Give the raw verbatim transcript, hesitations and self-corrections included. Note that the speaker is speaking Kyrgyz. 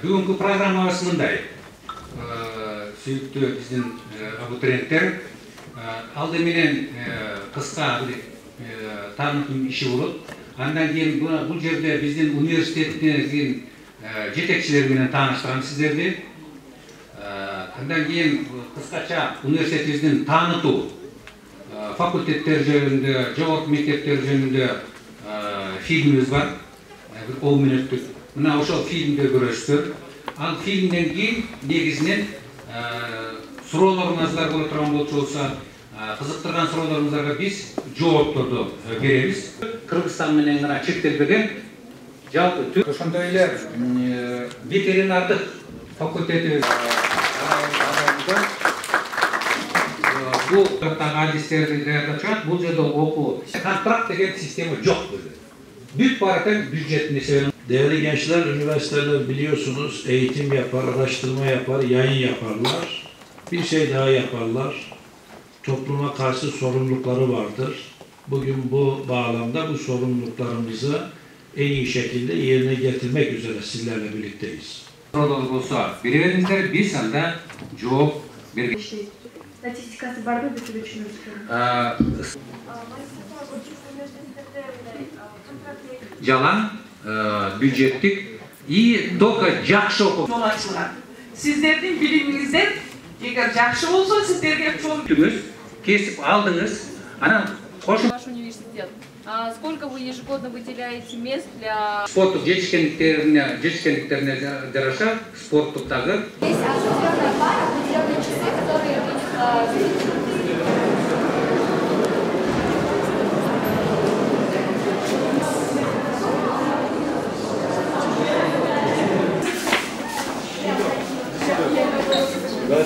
Бүгүнкү программабыз мындай. Сүйүктүү биздин абитуриенттер, алды менен кыска бир таанытым иши болот. Андан кийин бул жерде биздин университеттин жетекчилери менен тааныштырам сиздерди. Андан кийин кыскача университетибиздин таанытуу факультеттер жөнүндө, жогорку мектептер жөнүндө фильмибиз бар. Бир он мүнөттүк. Мына ошол фильмди көрөсүздөр. Ал фильмден кийин негизинен суроолоруңуздар боло турган болчу болсо, кызыктырган суроолоруңуздарга биз жоопторду беребиз. Кыргызстан менен гана чектелбеген жалпы ошондой эле ветеринардык факультети бул адистерди даярдап, бул жерде окуу контракт деген система жок böyle. Büyük baraten büdjetin eseri. Değerli gençler, üniversiteler biliyorsunuz eğitim yapar, araştırma yapar, yayın yaparlar. Bir şey daha yaparlar. Topluma karşı sorumlulukları vardır. Bugün bu bağlamda bu sorumluluklarımızı en iyi şekilde yerine getirmek üzere sizlerle birlikteyiz. Birbirimize bir sanda cevap bir Statistikası var mı bir düşünüyoruz? Jalan, büdjettik, iyi doka jakşı okul. Sizlerin biliminizden, eğer jakşı olsa sizlerge çok Tümüz, kesip aldınız, ana koşun. Ваш университет. А сколько вы ежегодно выделяете мест для Спорттук жетишкендиктерине, жетишкендиктерине жараша спорттуктагы. Есть определенная пара, определенные часы, которые у них Ben